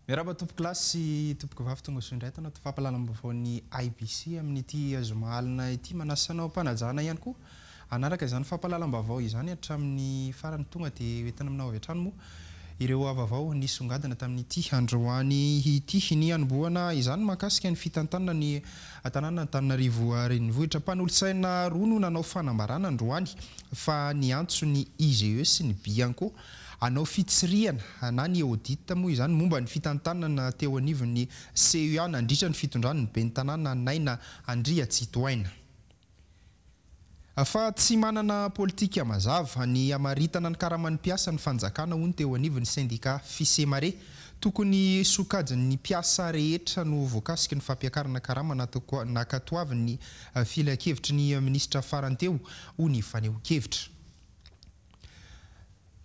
Miarahaba tompokolahy sy tompokovavy tonga soa indray ato anaty fampahalalam-baovaon'ny IBC amin'ity zoma alina ity. Manasa anao am-panajana ihany koa hanaraka izany fampahalalam-baovao izany hatramin'ny farany. Tonga dia hoentina aminao avy hatrany moa ireo vaovao nisongadina tamin'ity androany ity. Ny hanombohana izany mahakasika ny fitantanana ny tanànan'Antananarivo Renivohitra. Mpanolotsaina roa no nanao fanambarana androany fa niantso ny IGE sy ny Bianco hanao fitsirihana na ny audit moa izany momba ny fitantanana teo anivon'ny CEA nandritra ny fitondran'ny ben'ny tanàna Naina Andriatsitohaina. Fa tsy manana politika mazava ny hamaritana ny karaman'ny mpiasa ny fanjakana hoy ny teo anivon'ny sendika Fisemare. Tokony sokajin'ny mpiasa rehetra no voakasiky ny fampiakarana karama nankatoavin'ny filankevitry ny minisitra farany teo hoy ny fanehoan-kevitra.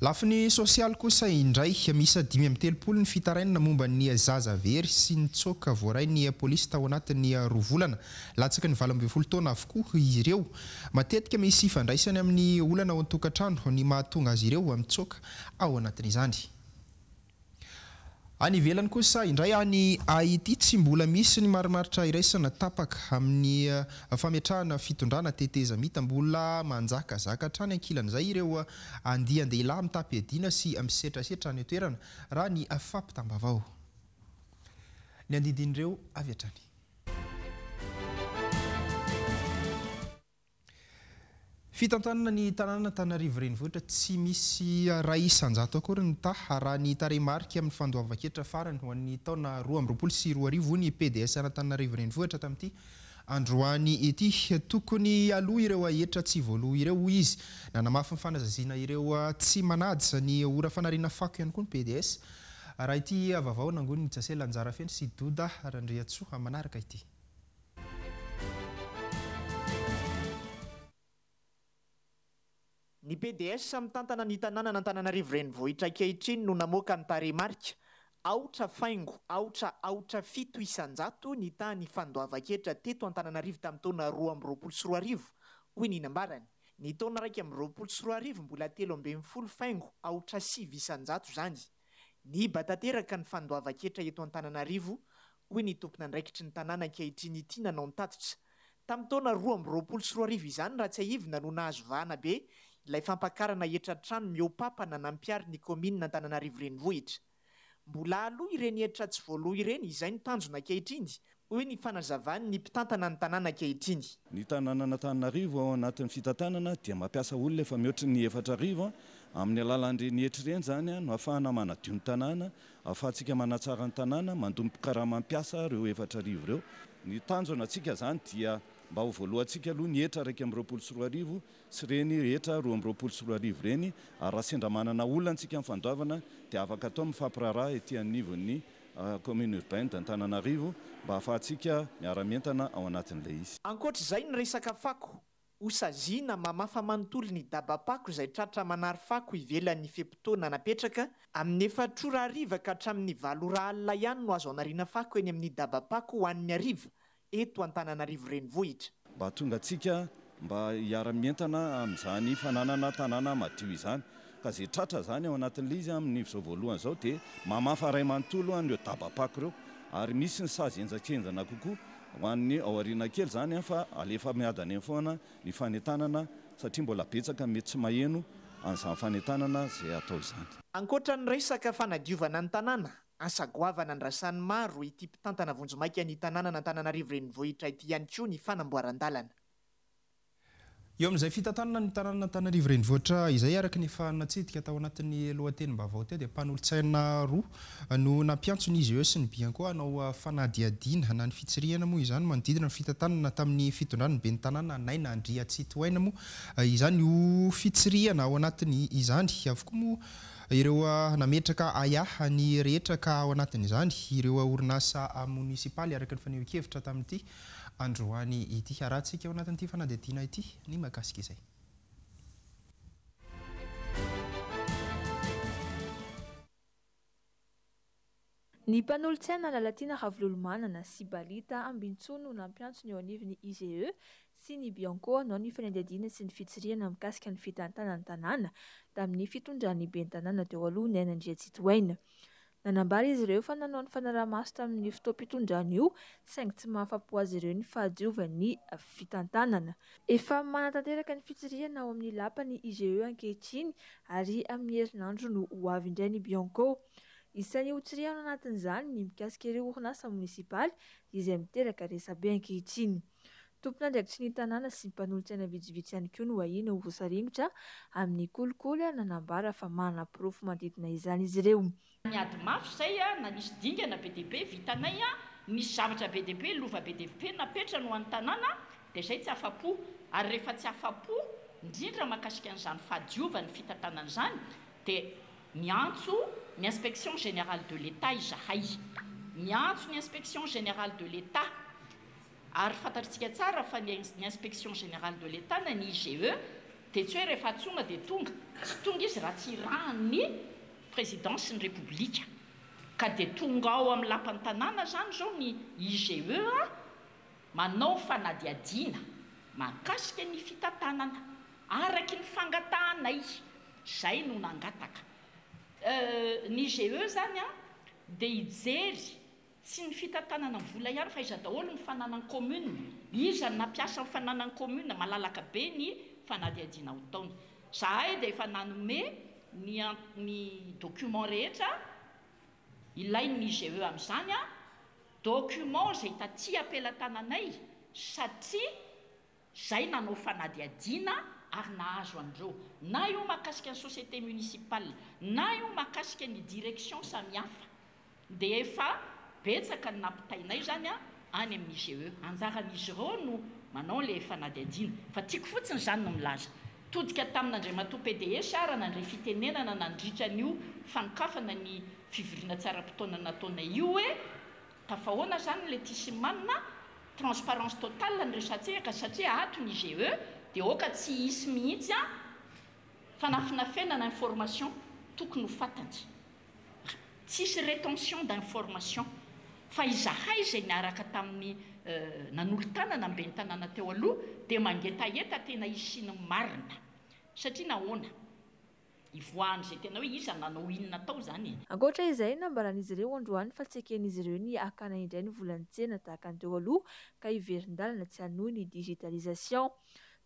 Lafiny sosialy kosa indray, miisa 35 ny fitarainana momba ny zaza very sy nitsoaka voarain'ny polisy tao anatin'ny roa volana. Latsaky ny 18 taona avokoa izy ireo. Matetika misy ifandraisany amin'ny olana ao an-tokantrano ny mahatonga azy ireo mitsoaka ao anatin'izany. Any ivelany kosa indray, any Haiti, tsy mbola misy ny marimaritra iraisana tapaka amin'ny fametrahana fitondrana tetezamita. Mbola manjakazaka hatrany ankilan'izay ireo andian-dehilahy mitam-piadiana sy misetrasetra any an-toerana, raha ny fampitam-baovao. Ny andidin'ireo avy hatrany. Fitantanana ny tanànan'Antananarivo Renivohitra, tsy misy 1% akory ny taha raha ny tarehimarika amin'ny fandoavan-ketra farany ho an'ny taona 2022, hoy ny PDS an'Antananarivo Renivohitra tamin'ity androany ity. Tokony hialoha ireo hetra tsy voaloa ireo, hoy izy. Nanamafy ny fanazaziana ireo tsy manaja ny ora fanariana fako ihany koa ny PDS, raha ity vaovao nangonin'i Jasela Anjarafeno sy Doda Randriantsoa manaraka ity. Ny pds mitantana ny tanànan'Antananarivo Renivohitra ankehitriny no namoaka ny tarehimarika, aotra faingo aotra aotra 7% ny tahan'ny fandoavan-ketra teto Antananarivo tamin'ny taona 2022, hoy ny nambarany. Ny taona 2021 mbola 13 faingo aotra 9% izany. Niiba tanteraka ny fandoavan-ketra eto Antananarivo, hoy ny tompon'andraikitry ny tanàna ankehitriny ity nanao ny tatitra. Tamin'ny taona 2022 izany raha tsiahivina no nahazo vahana be ilay fampakarana hetra trano mihoa-papana nampiharin'ny ny kaominina Antananarivo Renivohitra. Mbola aloa ireny hetra tsy voaloa ireny, izay no tanjona ankehitriny, hoy ny fanazavan'ny mpitantana ny tanàna ankehitriny. Ny tanànan'Antananarivo ao anatin'ny fitantanana dia mampiasa olona efa mihoatry ny 4000 Amin'ny alalan'ireny hetra ireny izany no ahafahana manadio ny tanàna, ahafahantsika manatsara ny tanàna, mandoa ny mpikarama mpiasa ireo 4000 ireo. Ny tanjona antsika izany dia mba ho voalohantsika aloha ny hetra 2021 sy ireny hetra 2022 ireny ary raha sendra manana olana isika amin'ny fandoavana dia afaka atao mifampiraharaha ety anivon'ny Commune urbaine d'Antananarivo mba ahafahantsika miara-mientana ao anatin'ilay izy. Ankoatra izay ny resaka fako, ho saziana mamafa manontolo ny dabam-pako izay tratra manary fako ivelan'ny fe-potoana napetraka, amin'ny efatra ora hariva ka hatramin'ny valo ora alina ihany no azo anariana fako eny amin'ny dabam-pako ho an'ny hariva eto Antananarivo Renivohitra. Mba hahatonga antsika mba hiara-mientana amin'izany fananana tanàna madio izany. Ka izay tratra izany ao anatin'ilay izy amin'izao voalohany izao dia mamafa iray manontolo an'ireo dabam-pako ireo. Ary misy ny sazy henjakenjana kokoa ho an'ny ao aoriana kely izany fa alefa miadana eny foana ny fanentanana satria mbola betsaka ny mety tsy maheno an'izany fanentanana izay atao izany. Ankoatra ny resaka fanadiovana ny tanàna, asa goavana andrasan'ny maro ity mpitantana vonjimaika ny tanànan'Antananarivo Renivohitra ity ihany koa ny fanamboaran-dalana. Eo amin'izay fitantanana ny tanànan'Antananarivo Renivohitra izay, araka ny efa natsidika tao anatin'ny lohatenim-baovao teo, dia mpanolotsaina roa no nampiantso ny IGE sy ny Bianco hanao fanadihadiana na ny fitsirihana moa izany manodidina ny fitantanana tamin'ny fitondran'ny ben'ny tanàna Naina Andriatsitohaina moa izany io fitsirihana ao anatiny izany avokoa moa ireo nametraka ahiahy ny rehetra ka ao anatin'izany ireo orinasa monisipaly araka ny fanehoan-kevitra tamin'ity androany ity. Harahantsika ao anatin'ity fanadihadiana ity ny mahakasika izay. Ny mpanolotsaina Lalatiana Ravololomanana sy Balita Ambinintsoa no nampiantso ny eo anivon'ny IGE sy ny Bianco hanao ny fanadihadiana sy ny fitsirihana mikasika ny fitantanan'ny tanàna tamin'ny fitondran'ny ben'ny tanàna teo aloha Naina Andriatsitohaina. Nanambara izy ireo fa nanao ny fanaraha-maso tamin'ny fotoam-pitondrana io, saingy tsy mahafa-po azy ireo ny fahadiovan'ny fitantanana. Efa manatanteraka ny fitsirihana ao amin'ny lapan'ny IGE ankehitriny ary amin'ny herinandro no ho avy indray ny Bianco. Isan'ny hotsirihana ao anatin'izany ny mikasika ireo orinasa monisipaly izay miteraka resabe ankehitriny. Tompon'andraikitry ny tanàna sy mpanolotsaina vitsivitsy ihany koa no ahiana ho voasaringotra amin'ny kolikoly ary nanambara fa manana porofo manodidina izany izy ireo. Niady mafy izay na nisy dingana be dia be vitanay, nisy zavatra be dia be, lova be dia be napetrany ho an'ny tanàna, dia izay tsy afa-po. Ary rehefa tsy afa-po, indrindra mahakasika an'izany fahadiovan'ny fitantanana izany, dia miantso ny Inspection Générale de l'Etat izahay. Miantso ny Inspection Générale de l'Etat. Ary fantatritsika tsara fa ny ny Inspection Générale de l'Etat na ny IGE dia tsy hoe rehefa antsoina dia tonga. Tsy tonga izy raha tsy irahan'ny Présidence ny Repoblika. Ka dia tonga ao amin'ny lapan'ny tanàna izany izao ny IGE manao fanadihadiana mahakasika ny fitantanana araky ny fangatahanay. Izay no nangataka. Ny IGE izany dia hijery Tsy ny fitantanana vola ihany fa iza daholo ny fananan'ny commune, iza no nampiasa ny fananan'ny commune, malalaka be ny fanadihadiana ho taona. Zahay dia efa nanome ny ny document rehetra ilain'ny IGE amin'izany, document izay taty am-pelatananay satria izay nanao fanadihadiana ary nahazo an'ireo, na io mahakasika ny société municipale, na io mahakasika ny direction samihafa. Dia efa betsaka ny nampitainay izany any amin'ny IGE. Anjaran'izy ireo no manao ilay fanadihadiana. Fa tiako fotsiny izany no milaza. Todika tamin'Andriamatoa PDS aho raha nandre fitenenana nandritra an'io fanokafana ny fivoriana tsy ara-potoana nataonay io hoe tafahoana izany ilay Tisimanina, transparence totale ny resatsika satria ato ny IGE dia aoka tsy hisy mihitsy fanafinafenana information tokony ho fantany. Tsisy rétention d'information fa izahay izay niaraka tamin'ny nanolo-tanana ny ben'ny tanàna teo aloha dia mangetaheta tena hisian'ny marina satria nahoana? Hivoahan'izay tena hoe iza nanao inona tao izany e! Ankoatra izay, nambaran'izy ireo androany fa tsy eken'izy ireo ny hakana indray ny volan'ny tsena tahaka ny teo aloha ka hiverin-dalana tsy hanohy ny digitalisation.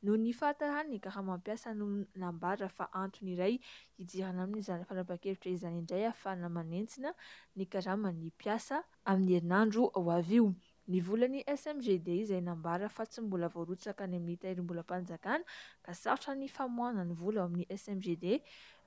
Noho ny fahatarany ka raha mampiasa no nambara fa antony iray hidirana amin'izany fanapahan-kevitra izany indray ahafahana manentsina ny karaman'ny mpiasa amin'ny herinandro ho avy io. Ny volan'ny SMGD izay nambara fa tsy mbola voarotsaka any amin'ny tahirim-bolam-panjakana ka sarotra ny famoahana ny vola ao amin'ny SMGD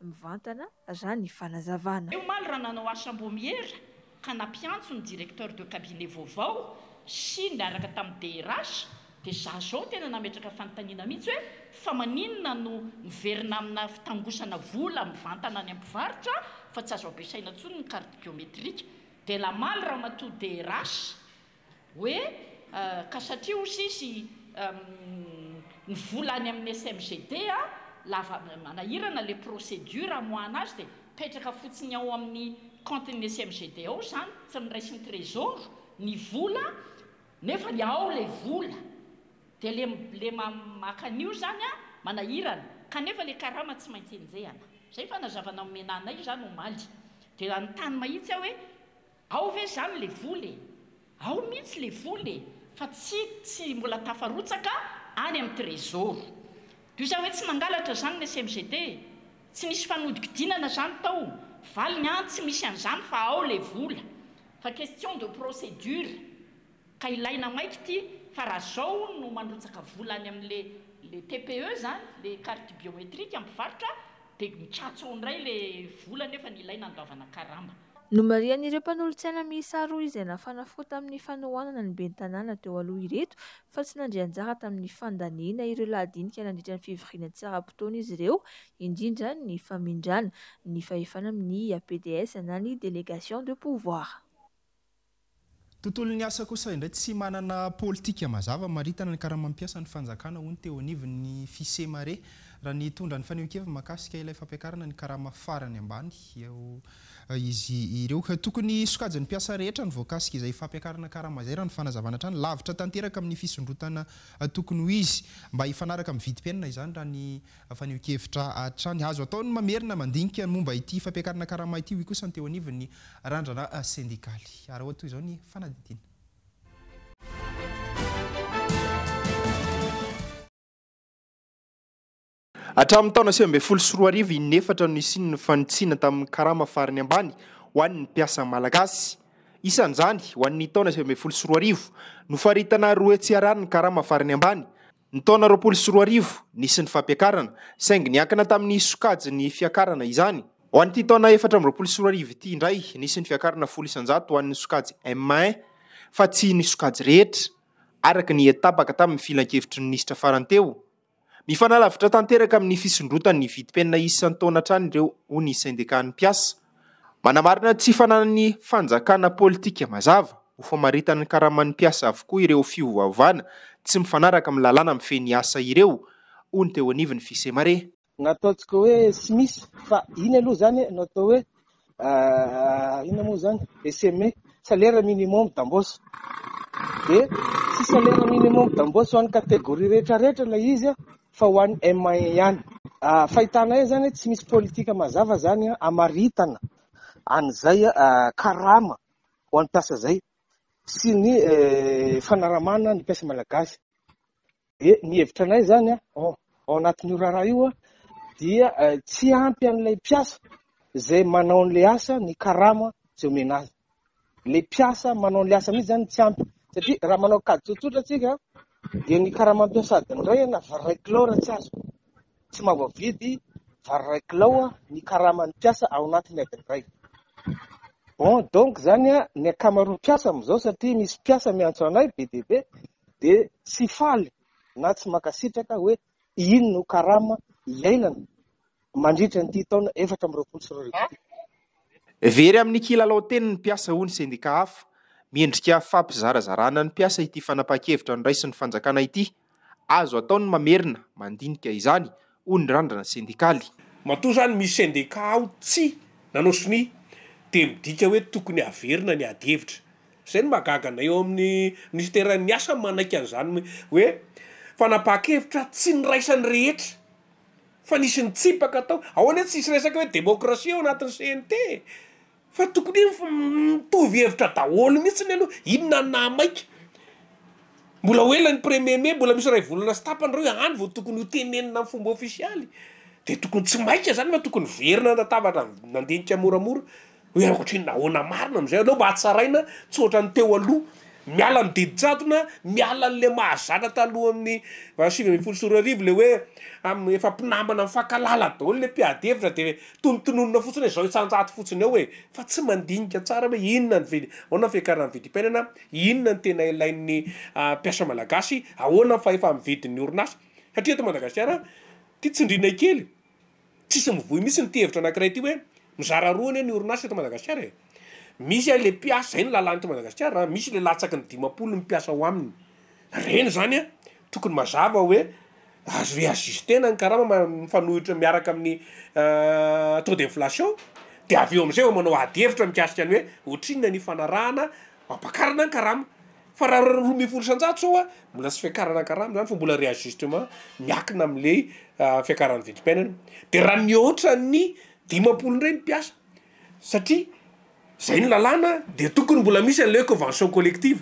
mivantana raha ny fanazavana. Omaly raha nanao asam-boamiera ka nampiantso ny directeur de cabinet vaovao sy niaraka tamin'ny DRH dia za zao tena nametraka fanontaniana mihitsy hoe fa maninona no miverina amina fitangosana vola mivantana any amin'ny mpivarotra fa tsy azo ampiasaina intsony ny carte biométrique dia namaly ramatoa DRH hoe ka satria hozy izy ny vola any amin'ny SMGD lava manahirana le procédure hamoahana azy dia mipetraka fotsiny ao amin'ny compte-n'ny SMGD ao izany tsy noraisin'ny trésor ny vola nefa ny ao le vola dia le le maka an'io izany manahirana kanefa le karama tsy maintsy enjehana izay fanazavana nomena anay izany omaly dia nanontany mahitsy aho hoe Ao ve zany le vola e? Ao mihitsy le vola e! Fa tsy tsy mbola tafarotsaka any amin'ny trésor. Toy izany hoe tsy nangalatra zany ny SMGD e! Tsy nisy fanodikodinana zany tao. Valiny an, tsy misy an'izany fa ao le vola. Fa question de procédure. Ka ilaina maika ity fa raha zao hono no mandrotsaka vola any amin'le le TPE zany, le carte biométrique mpivarotra dia mikatso ao indray le vola nefa ny ilaina andoavana karama. Nomarihan'ireo mpanolotsaina miisa roa izay nafana fo tamin'ny fanohanana ny ben'ny tanàna teo aloha ireto fa tsy nandray anjara tamin'ny fandaniana ireo lahadinika nandritra ny fivoriana tsy ara-potoana izy ireo, indrindra ny famindrana ny fahefana amin'ny PDS na ny délégation de pouvoir. Tontolon'ny asa kosa indray tsy manana politika mazava maritana ny karamam-piasan'ny fanjakana hoy ny teo anivon'ny Fisemare. Raha nitondra ny fanehoan-keviny mahakasika ilay fampiakarana ny karama farany ambany eo izy ireo. Tokony sokajin'ny mpiasa rehetra no voakasika izay fampiakarana karama izay raha ny fanazavana hatrany. Lavitra tanteraka amin'ny fisondrotana tokony ho izy mba hifanaraka amin'ny vidim-piainana izany raha ny fanehoan-kevitra hatrany. Azo atao ny mamerina mandinika ny momba ity fampiakarana karama ity hoy kosa ny teo anivon'ny randrana sendikaly. Araho toy izao ny fanadihadiana. Hatramin'ny taona 2019, in'efatra no nisian'ny fanitsiana tamin'ny karama farany ambany ho an'ny mpiasa malagasy. Isan'izany, ho an'ny taona 2019, nofaritana 200 ariary ny karama farany ambany. Ny taona 2020, nisy ny fampiakarana, saingy niankina tamin'ny sokajin'ny fiakarana izany. Ho an'ity taona 2024 ity indray, nisy ny fiakarana 10% ho an'ny sokajy M1, fa tsy ny sokajy rehetra, araka ny tapaka tamin'ny filankevitry ny minisitra farany teo. Mifanalavitra tanteraka amin'ny fisondrotan'ny vidim-piainana isan-taona hatrany ireo, hoy ny sendikan'ny mpiasa. Manamarina tsy fananan'ny fanjakana politika mazava ho famaritana ny karaman'ny mpiasa avokoa ireo fiovaovana tsy mifanaraka amin'ny lalàna mifehy ny asa ireo, hoy ny teo anivon'ny Fisemare. Nataontsika hoe SMIS fa iny aloha zany no atao hoe inona moa zany SME, salaire minimum d'embauche. Dia tsy salaire minimum d'embauche ho an'ny catégorie rehetra rehetra ilay izy fa ho an'ny M1 ihany. Fahitanay zany tsy misy politika mazava zany hamaritana an'izay karama ho an'ny mpiasa izay sy ny fanaramana ny mpiasa malagasy. Dia ny hevitra anay zany ao anatin'io raharaha io dia tsy ampy an'ilay mpiasa izay manao an'ilay asa ny karama izay omena azy. Ilay mpiasa manao an'ilay asa mihitsy zany tsy ampy satria raha manao kajy tsotsotra tsika dia ny karama mpiasa adiny iray na vary iray kilao raha tsy azo tsy mahavoavidy vary iray kilao ny karaman'ny mpiasa ao anatin'ny adiny iray. Bon donc zany ny ankamaroan'ny mpiasa amin'izao satria misy mpiasa miantso anay be dia be dia tsy faly na tsy mankasitraka hoe iny no karama iainana mandritra an'ity taona 2024 ity. Very amin'ny kilalao teny ny mpiasa hoy ny sendika hafa. Miendrika fampizarazarana ny mpiasa ity fanapahan-kevitra noraisin'ny fanjakana ity. Azo atao ny mamerina mandinika izany hoy ny randrana sendikaly. Matoa izany misy sendika ao tsy nanao sonia dia midika hoe tokony haverina ny ady hevitra. Izay no mahagaga anay eo amin'ny minisiteran'ny asa manaiky an'izany hoe fanapahan-kevitra tsy niraisan'ny rehetra fa nisy nitsipaka tao. Ao anie tsisy resaka hoe demokrasia ao anatin'ny CNT e! Fa tokony hoe mitovy hevitra daholo mihitsy aloha, inona no nahamaika? Mbola ho ela ny premier mai, mbola misy iray volana sy tapany ireo any vao tokony ho tenenina amin'ny fomba ofisialy. Dia tokony tsy maika izany fa tokony miverina an-databatra mandinika moramora. Hoe ohatrinona ahoana marina amin'izay aleo mba hatsaraina tsy ohatran'ny teo aloha, miala ny didy jadona, miala an'le mahazatra talohan'ny 2019 le hoe am- efa mpinamana mifankahalala daholo le mpiady hevitra de tonotononina fotsiny hoe zao isan-jato fotsiny eo e, fa tsy mandinika tsara hoe inona ny vidy, ahoana ny fiakaran'ny vidim-piainana, inona ny tena ilain'ny mpiasa malagasy, ahoana ny fahefa-mividin'ny orinasa, satria eto Madagasikara ty tsindriana kely. Tsisy mivoy mihitsy ity hevitra anakiray ity hoe mizara roa anie ny orinasa eto Madagasikara e! Misy an le mpiasa, zay ny lalàna eto Madagasikara an, misy le latsaky ny 50 ny mpiasa ao aminy, reny zany an tokony mazava hoe azo reajuster-na ny karama mifanohitra miaraka amin'ny taux d'inflation de avy eo amizay vao manao ady hevitra mikasika ny hoe ohatrinona ny ifanarahana ampakarana ny karama. Fa raha 12% zao a, mbola tsy fiakarana karama zany fa mbola réajustement miakina amle fiakaran'ny vidim-piainana. De raha mihoatra ny 50 ndray ny mpiasa, satria zay ny lalàna de tokony mbola misy an'le convention collective,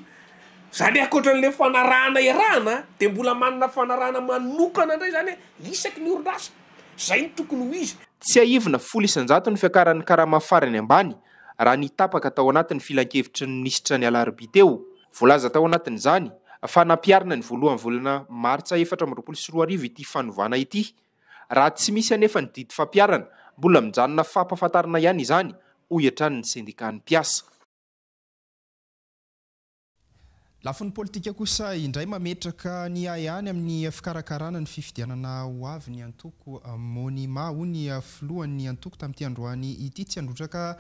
zany hoe ankoatran'le fanarahana iarahana de mbola manana fanarahana manokana ndray zany isaky ny orinasa, zay no tokony ho izy. Tsiahivina, 10% ny fiakaran'ny karama farany ambany raha ny tapaka tao anatin'ny filankevitry ny minisitra ny alarobia teo. Voalaza tao anatin'izany fa nampiharina ny voalohan'ny volana martsa 2024 ity fanovana ity. Raha tsy misy anefa ny didy fampiharana, mbola mijanona fampahafantarana ihany izany, hoy hatrany ny sendikan'ny mpiasa. Lafiny politika kosa indray, mametraka ny ahiahiny amin'ny fikarakarana ny fifidianana ho avy ny antoko Monima, hoy ny filohan'ny antoko tamin'ity androany ity. Tsy handrotsaka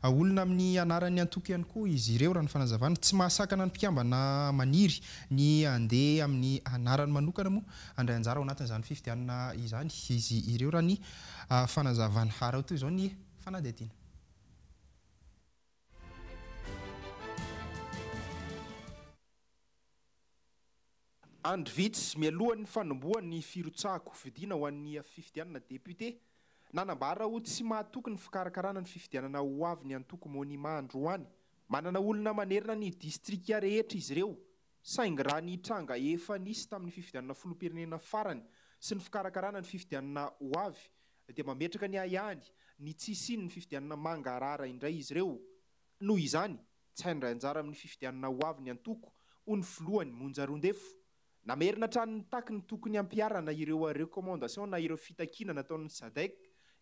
olona amin'ny anaran'ny antoko ihany koa izy ireo, raha ny fanazavana. Tsy mahasakana ny mpikambana maniry ny handeha amin'ny anarany manokana moa handray anjara ao anatin'izany fifidianana izany izy ireo, raha ny fanazavana. Araho toy izao ny fanadihadiana. Andro vitsy mialohan'ny fanombohan'ny firotsahan-kofidina ho an'ny fifidianana depiote, nanambara ho tsy mahatoky ny fikarakarana ny fifidianana ho avy ny antoko Monima androany. Manana olona manerana ny distrika rehetra izy ireo, saingy raha ny tranga efa nisy tamin'ny fifidianana filoham-pirenena farany sy ny fikarakarana ny fifidianana ho avy dia mametraka ny ahiahiny ny tsy hisian'ny fifidianana mangarahara indray izy ireo. Noho izany, tsy handray anjara amin'ny fifidianana ho avy ny antoko, hoy ny filohany, Monja Roindefo. Namerina hatrany nitaky ny tokony hampiharana ireo recommandations na ireo fitakiana nataon'ny Sadec,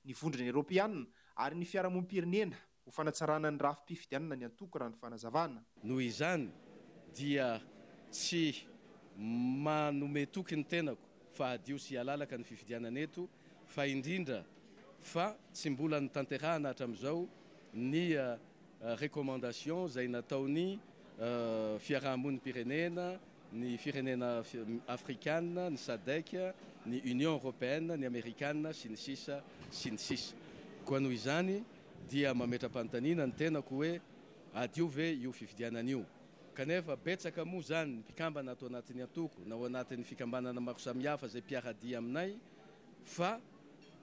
ny Vondrona Eoropeana ary ny fiarahamonim-pirenena ho fanatsarana ny rafi-pifidianana ny antoko raha ny fanazavana. Noho izany dia tsy manome toky ny tenako fa hadio sy halalaka ny fifidianana eto fa indrindra fa tsy mbola notanterahana hatramin'izao ny recommandation izay nataon'ny fiarahamonim-pirenena, ny firenena afrikana, ny Sadec, ny Union Européenne, ny Amerikana, sy ny sisa sy ny sisa. Koa noho izany dia mametra-panontaniana ny tenako hoe hadio ve io fifidianana io? Kanefa betsaka moa izany ny mpikambana ato anatin'ny antoko na ao anatin'ny fikambanana maro samihafa izay mpiara-dia aminay fa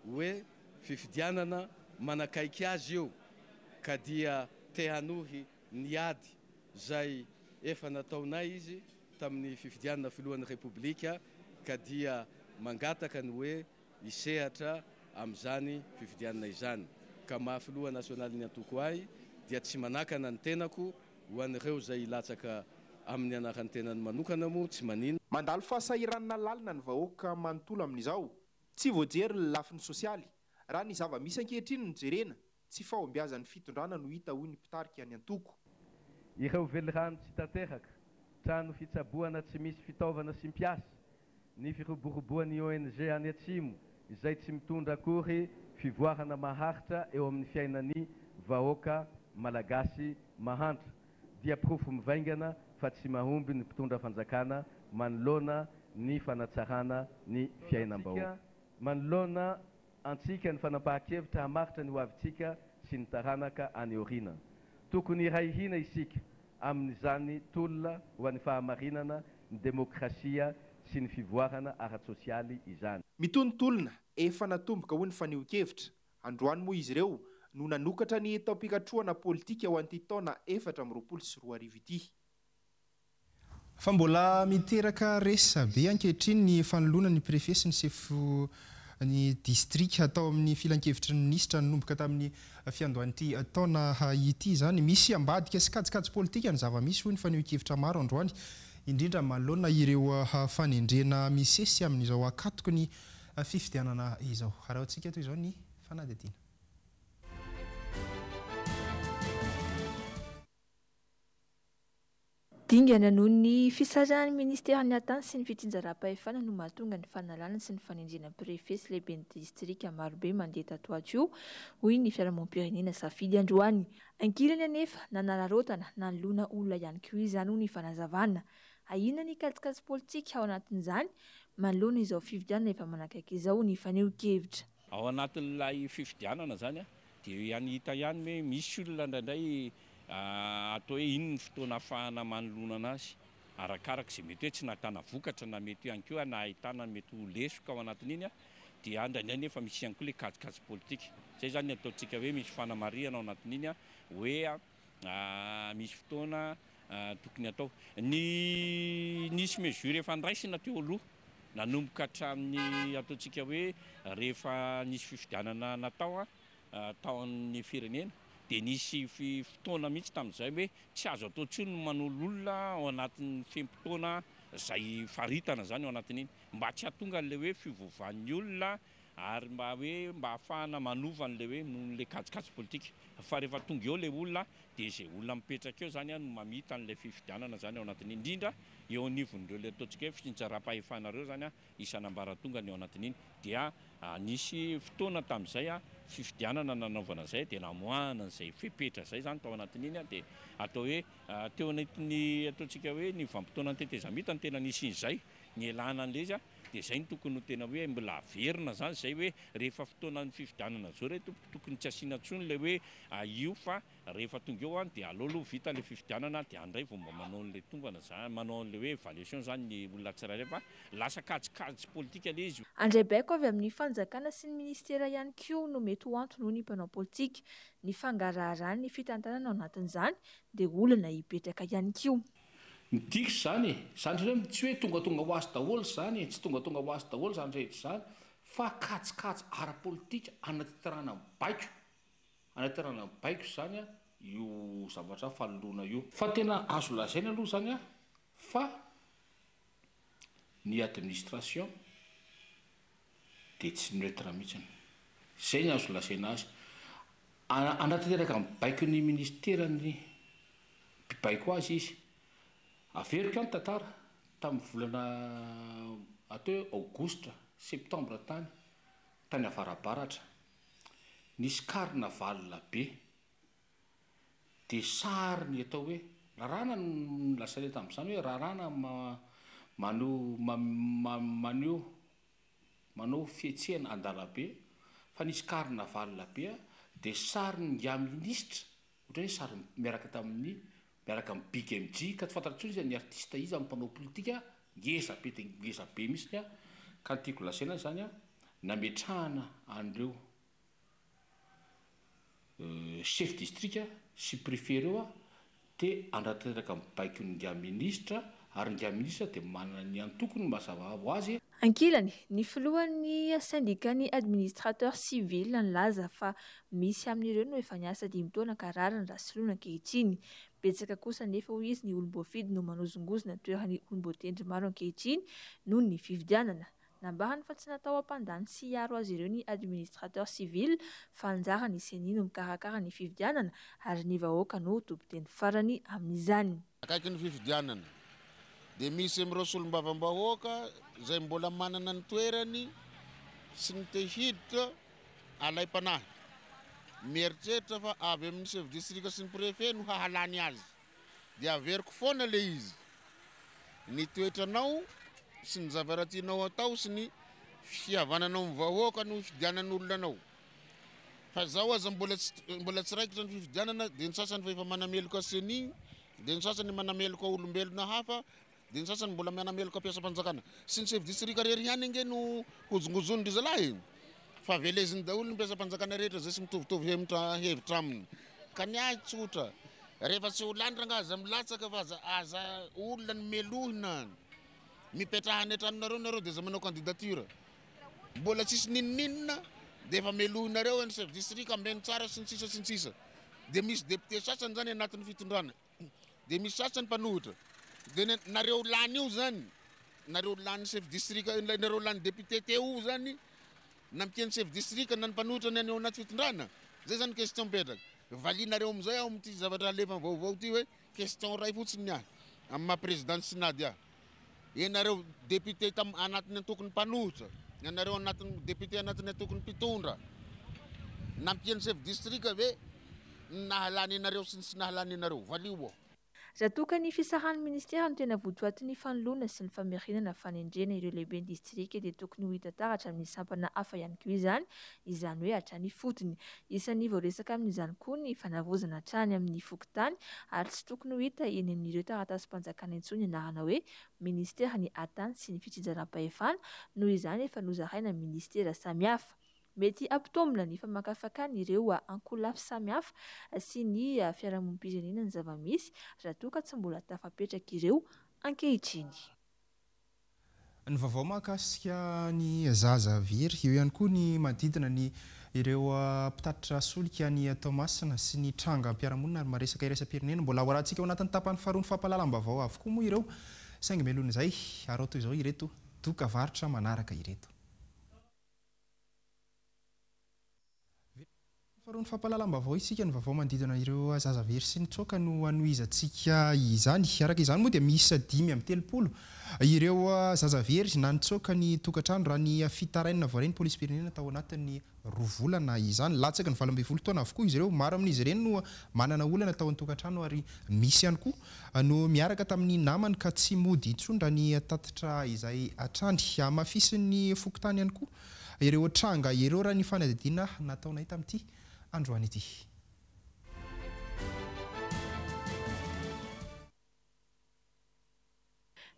hoe fifidianana manakaiky azy io ka dia te hanohy ny ady izay efa nataonay izy tamin'ny fifidianana filohan'ny Repoblika ka dia mangataka ny hoe hisehatra amin'izany fifidianana izany ka maha filoha nasionalin'ny antoko ahy dia tsy manakana ny tenako ho an'ireo izay hilatsaka amin'ny anaran'ny tenany manokana moa tsy maninona. Mandalo fahasahiranana lalina ny vahoaka manontolo amin'izao. Tsy voajery ny lafiny sosialy. Raha ny zava-misy ankehitriny no jerena, tsy fahombiazan'ny fitondrana no hita hoy ny mpitarika ny antoko. Ireo velirano tsy tanteraka, trano fitsaboana tsy misy fitaovana sy mpiasa, ny firoboroboan'ny ONG any Atsimo izay tsy mitondra akory fivoarana maharitra eo amin'ny fiainan'ny vahoaka Malagasy mahantra dia porofo mivaingana fa tsy mahomby ny mpitondra fanjakana manoloana ny fanatsarana ny fiainam-bahoaka. Manoloana antsika ny fanapahan-kevitra hamaritra ny hoavintsika sy ny taranaka any aoriana. Tokony hiray hina isika amin'izany tolona ho an'ny fahamarinana, ny demokrasia sy ny fivoarana ara-tsosialy izany. Mitohy ny tolona efa natomboka hoy ny fanehoan-kevitra. Androany moa izy ireo no nanokatra ny taom-pikatrohana politika ho an'ity taona 2024 ity. Fa mbola miteraka resabe ankehitriny ny fanoloana ny Préfet sy ny sefo ny distrika tao amin'ny filankevitry ny minisitra nanomboka tamin'ny fiandohan'ity taona ity izany. Misy ambadika sy kajikajy politika ny zava-misy hoy ny fanehoan-kevitra maro androany, indrindra manoloana ireo fanendrena misesy amin'izao ankatoky ny fifidianana izao. Arahintsika toy izao ny fanadihadiana. Dingana noho ny fisarahan'ny minisiteran'ny Atany sy ny fitsinjaram-pahefana no mahatonga ny fanalana sy ny fanendrena Préfet sy lehiben'ny distrika marobe mandeha tato ato io, hoy ny fiarahamonim-pirenena Safidy androany. Ankilany anefa, nanararaotana nanoloana olona ihany koa izany, hoy ny fanazavana. Ahiana ny kajikajy politika ao anatin'izany manoloana izao fifidianana efa manakaiky izao, ny fanehoan-kevitra. Ao anatin'ilay fifidianana izany dia eo ihany hita ihany hoe misy olona indraindray atao hoe iny ny fotoana ahafahana manoloana anazy arakaraka izay mety hoe tsy nahitana vokatra na mety ihany koa nahitana mety ho lesoka ao anatin'iny dia indraindray nefa misy ihany koa ilay kajikajy politika. Izay izany ny ataontsika hoe misy fanamarihana ao anatin'iny hoe misy fotoana tokony atao. Ny nisy mesure efa niraisina teo aloha nanomboka hatramin'ny ataontsika hoe rehefa nisy fifidianana natao tao amin'ny firenena dia nisy fotoana mihitsy tamin'izay hoe tsy azo atao intsony ny manolo olona ao anatin'ny fe-potoana izay faritana izany ao anatin'iny mba tsy hahatonga an'ilay hoe fiovaovan'ny olona. ary mba hoe mba ahafahana manova an'ilay hoe noho n'ilay kajikajy politika fa rehefa tonga eo ilay olona dia izay olona mipetraka eo izany no mamita an'ilay fifidianana izany ao anatin'iny, indrindra eo anivon'ireo ilay ataontsika hoe fitsinjaram-pahefana ireo izany isan'ambaratongany ao anatin'iny dia nisy fotoana tamin'izay fifidianana nanaovana izay dia namoahana an'izay fepetra izay izany tao anatin'iny dia atao hoe teo anatin'ny ataontsika hoe ny vanim-potoanan'ny tetezamita no tena nisian'izay nialana an'ilay izy dia izay no tokony ho tena hoe mbola averina izany izay hoe rehefa fotoanan'ny fifidianana izao re tompoko tokony tsy asiana intsony ilay hoe io fa rehefa tonga eo an dia aleo aloha vita ilay fifidianana dia any indray vao mba manao an'ilay tombana izany manao an'ilay hoe évaluation izany ny olona tsirairay fa lasa kajikajy politika ilay izy. Handray baiko avy amin'ny fanjakana sy ny minisitera ihany koa no mety ho antony hoy ny mpanao politika. Ny fangaraharan'ny fitantanana ao anatin'izany dia olana hipetraka ihany koa. Midika izany e! Izany indray hoe tsy hoe tongatonga ho azy daholo izany e! Tsy tongatonga ho azy daholo izany rehetra izany fa kajikajy ara-politika anatanterahana ny baiko, anatanterahana ny baiko izany io zavatra fanoloana io. Fa tena azo lazaina aloha izany fa ny administration dia tsy neutre mihitsiny. Izay ny azo lazaina azy. Anatanteraka ny baikon'ny ministeran'ny mpibaiko azy izy. Averiko ihany ny tantara, tamin'ny volana atao hoe aogositra, septambra tany, tany avarabaratra, nisy carnaval be, dia sary ny atao hoe, raràna no nolazaina tamin'izany hoe raràna maneho maneho manao fihetsehana an-dalabe, fa nisy carnaval be dia sarin'ingahy minisitra Ohatra hoe sary miaraka tamin'ny miaraka amin'ny Big MJ ka tsy fantatra intsony iza ny artiste iza ny mpanao politika ngeza be dia ngeza be mihitsiny an, ka ny tiako lazaina izany an, nametrahana an'ireo chef district sy préfet ireo an, te hanatanteraka ny baikon'ingahy minisitra ary ingahy minisitra dia manana ny antokony mazava ho azy. Ankilany, ny filohan'ny sendikan'ny administrateurs civils nilaza fa misy amin'ireo no efa niasa dimy taona ka rariny raha soloina ankehitriny. Betsaka kosa anefa hoy izy ny olom-boafidy no manozongozona ny toeran'ny olom-boatendry maro ankehitriny noho ny fifidianana. Nambarany fa tsy natao hampandany sy hiaro azy ireo ny administrateur civil fa anjaran'ny Ceni no mikarakara ny fifidianana ary ny vahoaka no tompon-teny farany amin'izany. Akaiky ny fifidianana dia misy amin'ireo solombavambahoaka izay mbola manana ny toerany sy ny te hiditra alaim-panahy mieritreritra fa avy amin'ny chef district sy ny préfet no hahalany azy. Dia averiko foana le izy. Ny toetranao sy ny zavatra tianao atao sy ny fihavananao amin'ny vahoaka no hifidianan'olona anao. Fa zao aza mbola tsy mbola tsy raikitra ny fifidianana dia ny sasany fa efa manameloka ceni, dia ny sasany manameloka olombelona hafa, Dia ny sasany mbola mianameloka mpiasam-panjakana. Sy ny chef district rery ihany ange no hozongozonin-dry zalahy e! Fa veleziny daholo ny mpiasam-panjakana rehetra izay tsy mitovitovy hemitra hevitra aminy. Ka ny ahy tsotra, rehefa tsy ho lany rangaha aza milatsaka fa aza aza olona no melohina. Mipetraha any an-tranonareo nareo dia aza manao candidature. Mbola tsisy n'inon'inona dia efa melohinareo ny chef district ambeno tsara sy ny sisa sy ny sisa. Dia misy député sasany zany anatin'ny fitondrana. Dia misy sasany mpanohitra. Dia ny nareo lany io zany, nareo lany chef district, nareo lany député teo io zany, nampian'ny chef district na ny mpanohitra ny any ao anaty fitondrana? Zay zany question mipetraka. Valianareo amizay aho amin'ity zavatra alefa vaovao ity hoe question iray fotsiny ny ahy, amin'ny maha président ny synady ahy. Ianareo député tam anatin'ny antokon'ny mpanohitra, ianareo anatin'ny député anatin'ny antokon'ny mpitondra, nampian'ny chef district ve ny nahalany anareo sy ny tsy nahalany anareo? Valio ô. Raha toa ka ny fisarahan'ny minisitera no tena votoatin'ny fanoloana sy ny famerenana fanendrena ireo lehiben'ny distrika dia tokony ho hita taratra amin'ny sampana hafa ihany koa izany, izany hoe hatrany ifotony. Isan'ny voaresaka amin'izany koa ny fanavaozana hatrany amin'ny fokontany ary tsy tokony ho hita eny amin'ireo taratasim-panjakana intsony ny anarana hoe Minisiteran'ny Atany sy ny Fitsinjaram-pahefana noho izany efa nozaraina minisitera samihafa. Mety hampitombina ny famakafakana ireo ankolafy samihafa sy ny fiarahamonim-pirenena ny zava-misy raha toa ka tsy mbola tafapetraka ireo ankehitriny. Ny vaovao mahakasika ny zaza very, eo ihany koa ny manodidina ny ireo mpitatitra solika any Toamasina sy ny trangam-piarahamonina ary maresaka iraisam-pirenena. Mbola ho arahantsika ao anatin'ny tapany faharoa ny fampahalalam-baovao avokoa moa ireo, saingy mialohan'izay, araho toy izao ireto dokavarotra manaraka ireto. Faharoa ny fampahalalam-baovao isika, ny vaovao manodidina ireo zaza very sy nitsoaka no hanohizantsika izany. Araka izany moa dia miisa 35 ireo zaza very na nitsoaka ny tokantrano raha ny fitarainana voaray ny polisim-pirenena tao anatin'ny roa volana izany. Latsaky ny 18 taona avokoa izy ireo. Maro amin'izy ireny no manana olana tao an-tokantrano ary misy ihany koa no miaraka tamin'ny namany ka tsy mody intsony raha ny tatitra izay hatrany. Hamafisin'ny fokontany ihany koa ireo tranga ireo raha ny fanadihadiana nataonay tamin'ity androany ity.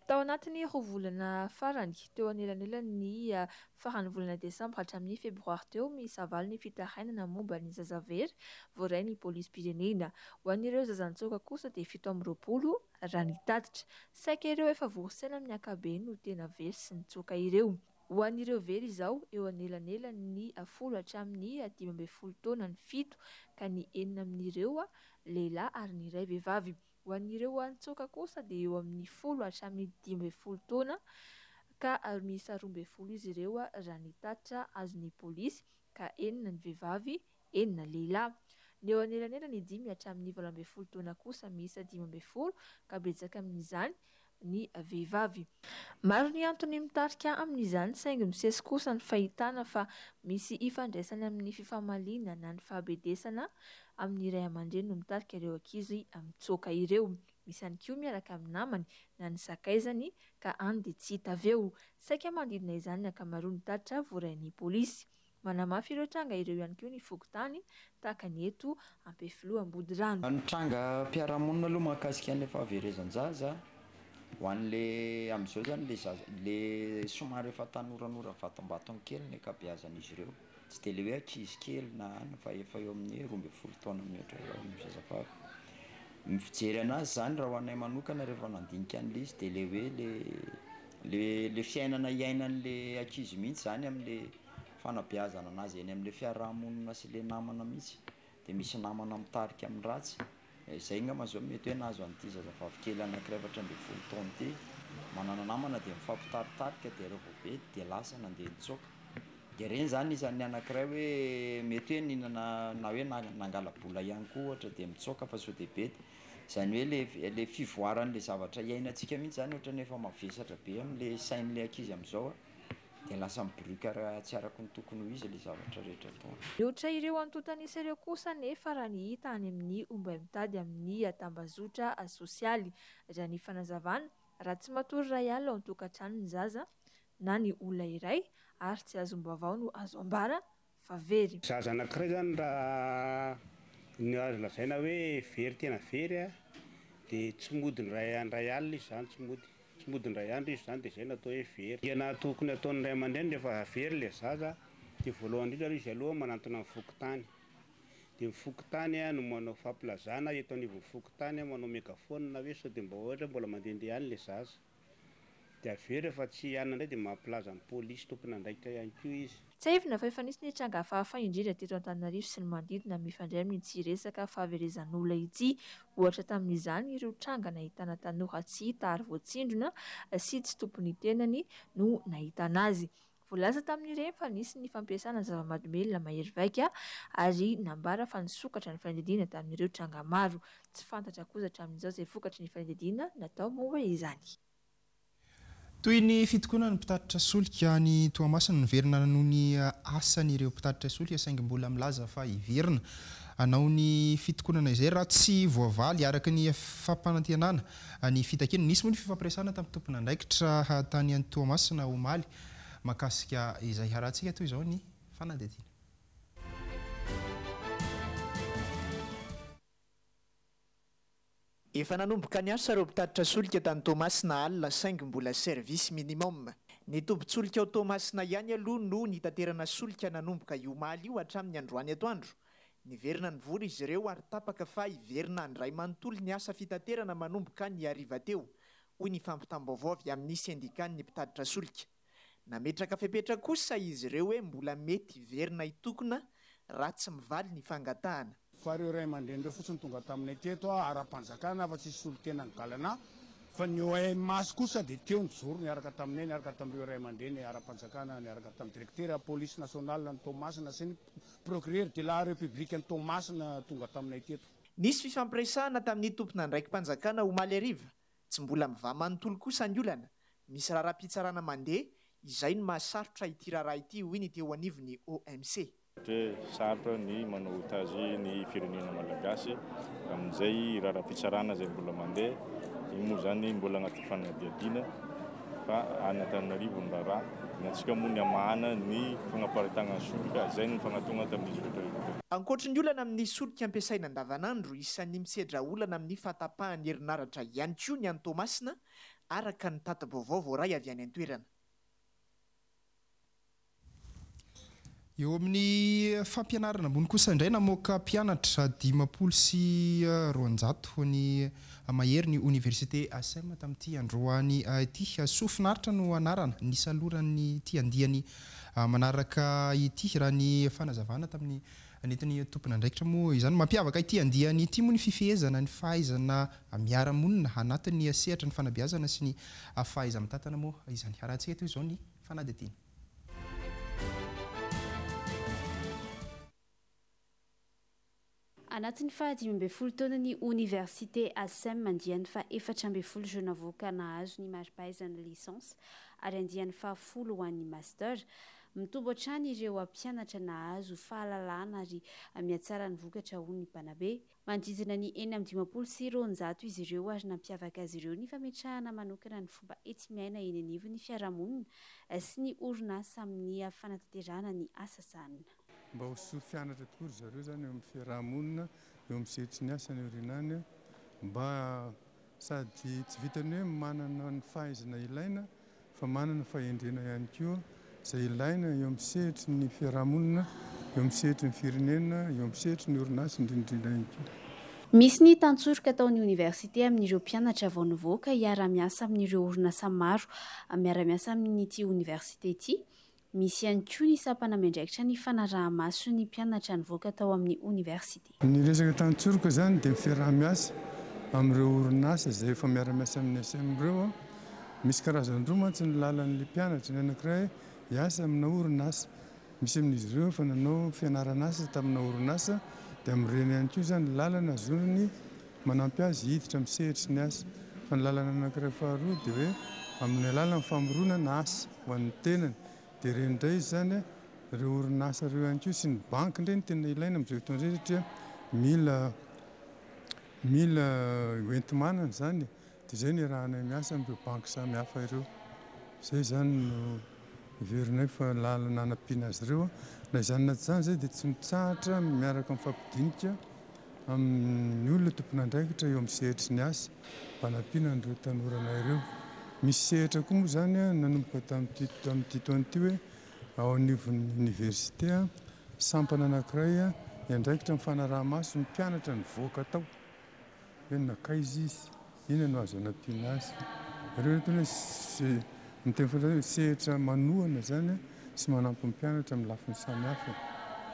Tao anatin'ny roa volana farany, teo anelanelan'ny faran'ny volana desambra hatramin'ny febroary teo, miisa valo ny fitarainana momba ny zaza very voaray ny polisim-pirenena. Ho an'ireo zaza nitsoaka kosa dia 27 raha ny tatitra. Saika ireo efa vory saina amin'ny ankapobeny no tena very sy nitsoaka ireo. Ho an'ireo very izao, eo anelanelan'ny 10 hatramin'ny 15 taona ny fito, ka ny enina amin'ireo lehilahy ary ny iray vehivavy. Ho an'ireo nitsoaka kosa dia eo amin'ny 10 hatramin'ny 15 taona, ka miisa 12 izy ireo raha ny tatitra azon'ny polisy, ka enina ny vehivavy, enina lehilahy. Ny eo anelanelan'ny 5 hatramin'ny 18 taona kosa miisa 15, ka betsaka amin'izany ny vehivavy. Maro ny antony mitarika amin'izany, saingy misesy kosa ny fahitana fa misy ifandraisany amin'ny fifamaliana na ny fahabedesana amin'ny ray aman-dreny no mitarika ireo ankizy mitsoaka ireo. Misy ihany koa miaraka amin'ny namany na ny sakaizany ka any dia tsy hita avy eo. Saika manodidina izany ny ankamaroan'ny tatitra voarain'ny polisy. Manamafy ireo tranga ireo ihany koa ny fokontany tahaka ny eto Ampefiloha Ambodirano. Ny tranga mpiara-monina aloha mahakasika an'ilay fahaverezan-jaza, ho an'le amin'izao zany le zaza le somary efa tanoranora vatombatony kely ny ankabeazan'izy ireo, tsy de le hoe ankizy kely na any fa efa eo amin'ny 12 taona mihoatra eo ny zazavavy. Ny fijery anazy zany raha ho anay manokana rehefa nandinika an'le izy de le hoe le le le fiainana iainan'le ankizy mihitsy zany am'le fanabeazana anazy eny am'le fiarahamonina sy le namana mihitsy, de misy namana mitarika amin'ny ratsy. Zay angamba zao mety hoe nahazo an'ity zazavavy kely anankiray 14 taona ity, manana namana de mifampitaritarika de reo vao be de lasa nandeha nitsoaka. De reny zany isan'ny anankiray hoe mety hoe nihinana na hoe nangala-bola ihany koa ohatra de mitsoaka fa sao de bedy. Zany hoe le le fivoaran'le zavatra iainantsika mihitsy zany ohatran'ny efa mavesatra be am'le sain'le ankizy am'izao a, de lasa miboriaka raha tsy araka ny tokony ho izy le zavatra rehetra ataony. Mihoatra ireo antontan'isa ireo kosa nefa raha ny hita any amin'ny ombay mitady amin'ny tambazotra sosialy. Raha ny fanazavana, raha tsy matory iray alina ao an-tokantrano ny zaza na ny olona iray ary tsy azom-baovao no azo ambara fa very. Zaza anankiray zany raha ny azo lazaina hoe very tena very a, de tsy mody indray indray alina izy zany, tsy mody, tsy mody indray andro izy zany de zay no atao hoe very. Dingana tokony ataon'ny ray aman-dreny rehefa very le zaza de voalohany indrindra aloha izy aloha manantona ny fokontany, de ny fokontany a no manao fampilazana eto anivon'ny fokontany a, manao mégaphone hoe sao de mba ohatra mbola mandehandeha any le zaza. De avy eo rehefa tsy hanana indray de mampilaza ny polisy tompon'andraikitra ihany koa izy. Tsiahivina fa efa nisy ny tranga hafahafa indrindra teto Antananarivo sy ny manodidina mifandray amin'ity resaka fahaverezan'olona ity. Ohatra tamin'izany ireo tranga nahitana tanora tsy hita ary voatsindrona sy tsy tompon'ny tenany no nahitana azy. Voalaza tamin'ireny fa nisy ny fampiasana zava-mahadomelina mahery vaika ary nambara fa nisokatra ny fanadihadiana tamin'ireo tranga maro. Tsy fantatra kosa hatramin'izao izay vokatry ny fanadihadiana natao momba izany. Toy ny fitokonan'ny mpitatitra solika any Toamasina, niverina noho ny asany ireo mpitatitra solika saingy mbola milaza fa hiverina hanao ny fitokonana izay raha tsy voavaly araka ny fampanantenana ny fitakiana. Nisy moa ny fifampiresahana tamin'ny tompon'andraikitra tany Toamasina omaly mahakasika izay. Harahantsika toy izao ny fanadihadiana. Efa nanomboka niasa ireo mpitatitra solika tany Toamasina alina saingy mbola service minimum. Ny tobin-tsolika ao Toamasina ihany aloha no nitaterana solika nanomboka io omaly io hatramin'ny androany atoandro. Niverina nivory izy ireo ary tapaka fa hiverina handray manontolo ny asa fitaterana manomboka ny hariva teo, hoy ny fampitam-baovao avy amin'ny sendikan'ny mpitatitra solika. Nametraka fepetra kosa izy ireo hoe mbola mety hiverina hitokona raha tsy mivaly ny fangatahana. Fa ireo ray aman-dreny ireo fotsiny tonga taminay teto ara-panjakana fa tsisy solontena ny galana. Fa ny OMH kosa dia teo nijoro niaraka taminay, niaraka tamin'ireo ray aman-dreny ara-panjakana, niaraka tamin'ny Direktera Police Nationale an'i Toamasina sy ny Procureur de la République an'i Toamasina tonga taminay teto. Nisy fifampiresahana tamin'ny tompon'andraiki-panjakana omaly hariva. Tsy mbola mivaha manontolo kosa ny olana. Misy raharaham-pitsarana mandeha, izay no mahasarotra ity raharaha ity, hoy ny teo anivon'ny OMC. Satria sarotra ny manao otage ny firenena malagasy amin'izay raharaham-pitsarana izay mbola mandeha. Iny moa izany mbola anaty fanadihadiana fa any Antananarivo ny raharaha. Ny antsika moa ny hamahana ny fanaparitahana ny solika, izay no nifanatona tamin'izy rehetra ireo. Ankoatry ny olana amin'ny solika ampiasaina andavanandro, isan'ny misedra olana amin'ny fahatapahan'ny herinaratra ihany koa ny any Toamasina, araka ny tati-baovao voaray avy any an-toerana. Eo amin'ny fampianarana ambony kosa indray, namoaka mpianatra 250 ny mahery ny oniversite Asem tamin'ity androany ity. Soa finaritra no anarana nisaloran'ity andiany manaraka ity, raha ny fanazavana tamin'ny nentin'ny tompon'andraikitra moa izany. Mampiavaka ity andiany ity moa ny fifehezana ny fahaizana miara-monina anatin'ny sehatra ny fanabeazana sy ny fahaiza-mitantana moa izany. Arahantsika toy izao ny fanadihadiana. Anatin'ny faha 15 taonan'ny Oniversite Asem andiany faha 14 ireo navoaka nahazo ny mari-pahaizana licence ary andiany faha folo ho an'ny master. Mitombo hatrany ireo mpianatra nahazo fahalalana ary mihatsara ny vokatra hoy ny mpanabe. Manodidina ny 256 izy ireo ary nampiavaka azy ireo ny fametrahana manokana ny fomba enti-miaina eny anivon'ny fiarahamonina sy ny orinasa amin'ny fanatanterahana ny asa sahanina. Mba ho soa fianatra tokoa ry zareo izany eo amin'ny fiarahamonina, eo amin'ny sehatry ny asa any aoriana any, mba sady tsy vitan'ny hoe manana ny fahaizana ilaina fa manana fahendrena ihany koa izay ilaina eo amin'ny sehatry ny fiarahamonina, eo amin'ny sehatry ny firenena, eo amin'ny sehatry ny orinasa indrindra indrindra ihany koa. Misy ny tantsoroka ataon'ny oniversite amin'ireo mpianatra vao nivoaka hiara-miasa amin'ireo orinasa maro miara-miasa amin'ity oniversite ity. Misy ihany koa ny sampana miandraikitra ny fanaraha-maso ny mpianatra nivoaka tao amin'ny oniversite. Ny resaka tantsoroka izany dia ny fiaraha-miasa amin'ireo orinasa izay efa miara-miasa amin'ny SM ireo. Misy karazany roa mantsy ny lalan'ilay mpianatra, ny anankiray hiasa amina orinasa. Misy amin'izy ireo efa nanao fianaran'asa tamina orinasa dia amin'ireny ihany koa izany ny lalana azony manampy azy hiditra amin'ny sehatry ny asa. Fa ny lalana anankiray faharoa dia hoe amin'ny alalan'ny famoronana asa. ho an'ny tenany. Dia ireny indray izy izany, ireo orinasa ireo ihany koa sy ny banky indray no tena ilaina amin'izao fotoana izao satria mila mila hoenti-manana izany e. Dia izay no iarahanay miasa amin'ireo banky samihafa ireo. Izay izany no heverinay fa lalana hanampiana azy ireo. Na izany na tsy izany izay dia tsy mitsahatra miaraka mifampidinika amin'ny olona tompon'andraikitra eo amin'ny sehatry ny asa mba hanampiana an'ireo tanoranay ireo. Misy sehatra koa moa izany nanomboka tamin'ity tamin'ity taona ity hoe ao anivon'ny oniversite sampana anankiray miandraikitra ny fanaraha-maso ny mpianatra nivoaka tao hoe nankaiza izy, inona no azo anampiana azy. Ireo no tena hoe ny teny frantsay hoe sehatra manohana izany sy manampy ny mpianatra amin'ny lafiny samihafa.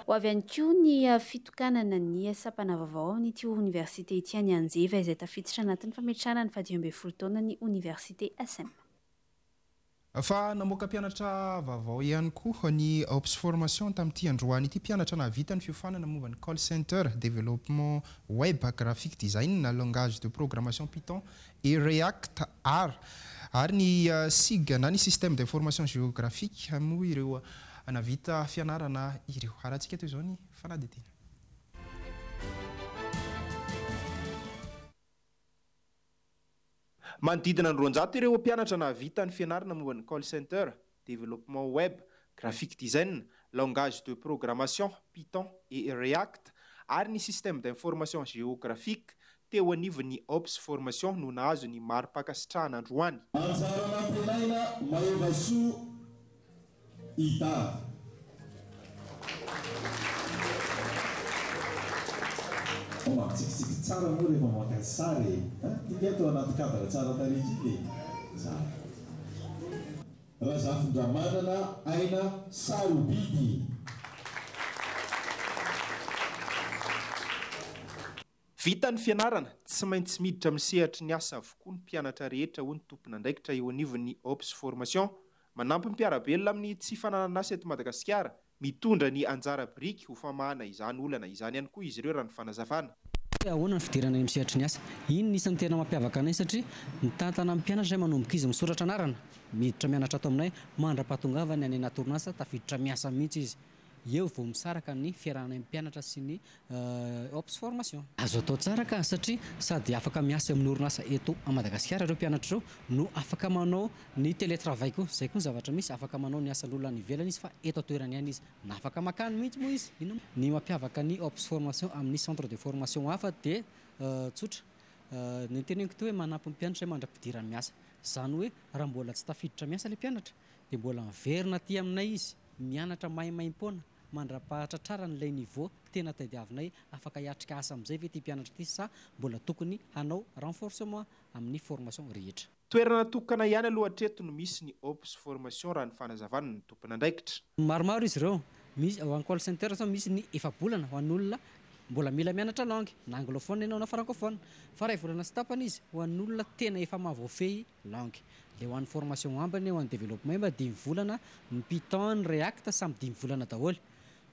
Ho avy ihany koa ny fitokanana ny sampana vaovao amin'ity oniversite ity any Anjeva izay tafiditra anatin'ny fametrahana ny fahadimy ambin'ny folo taonan'ny oniversite SM. Fa namoaka mpianatra vaovao ihany koa ny Ops Formation tamin'ity androany ity. Mpianatra nahavita ny fiofanana momba ny Call Center, Développement Web, Graphic Design, Langage de Programmation Python et React R ary ny SIG na ny Système d'Information Géographique moa ireo nahavita fianarana ireo. Arahantsika toy izao ny fanadihadiana. Manodidina ny 200 ireo mpianatra nahavita ny fianarana momba ny Call Center, Développement Web, Graphic Design, Langage de Programmation, Python et React ary ny Système d'Information Géographique teo anivon'ny Ops Formation no nahazo ny mari-pankasitrahana androany. Anjara nantenaina Mahevasoa Ida. Mampitsikitsiky tsara moa rehefa maka sary e! An! Ty nge atao anaty cadre tsara tarehy kely e! Tsara. Razafindramanana Aina Sarobidy. Vita ny fianarana, tsy maintsy miditra amin'ny sehatry ny asa avokoa ny mpianatra rehetra hoy ny tompon'andraikitra eo anivon'ny Ops Formation. Manampy ny mpiara-belona amin'ny tsy fananana asa eto Madagasikara, mitondra ny anjara biriky ho famahana izany olana izany ihany koa izy ireo raha ny fanazavana. Hoe ahoana ny fidirana any amin'ny sehatry ny asa? Iny no isan'ny tena mampiavaka anay satria mitantana ny mpianatra izay manomboka izy misoratra anarana, miditra mianatra ato aminay mandra-pahatongavany any anaty orinasa tafiditra miasa mihitsy izy. Eo vao misaraka ny fiarahanay mpianatra sy ny Ops Formation. Azo atao tsara ka satria sady afaka miasa eo amin'ny orinasa eto Madagasikara ireo mpianatra ireo no afaka manao ny télétravail koa. Izay koa ny zavatra misy, afaka manao ny asan'olona any ivelany izy fa eto an-toerana ihany izy. Na afaka makany mihitsy moa izy. Inona moa? Ny mampiavaka ny Ops Formation amin'ny centre de formation hafa dia tsotra. Ny teneniko teo hoe manampy ny mpianatra izay mandra-pidirany miasa. Izany hoe raha mbola tsy tafiditra miasa ilay mpianatra dia mbola miverina aty aminay izy mianatra maimaimpoana mandra-pahatratrarany ilay niveau tena tadiavinay afaka hiatrika asa amin'izay ve ity mpianatra ity sa mbola tokony hanao renforcement amin'ny formation rehetra. Toerana tokana ihany aloha hatreto no misy ny Ops Formation raha ny fanazavana ny tompon'andraikitra. Maromaro izy ireo. Misy ho an'ny call center zao misy ny efa-bolana ho an'olona mbola mila mianatra langue, na anglophone ianao na francophone. Fa iray volana sy tapany izy ho an'olona tena efa mahavoafehy langue. Le ho an'ny formation ambiny ho an'ny développement mba dimy volana, ny python, ny react samy dimy volana daholo.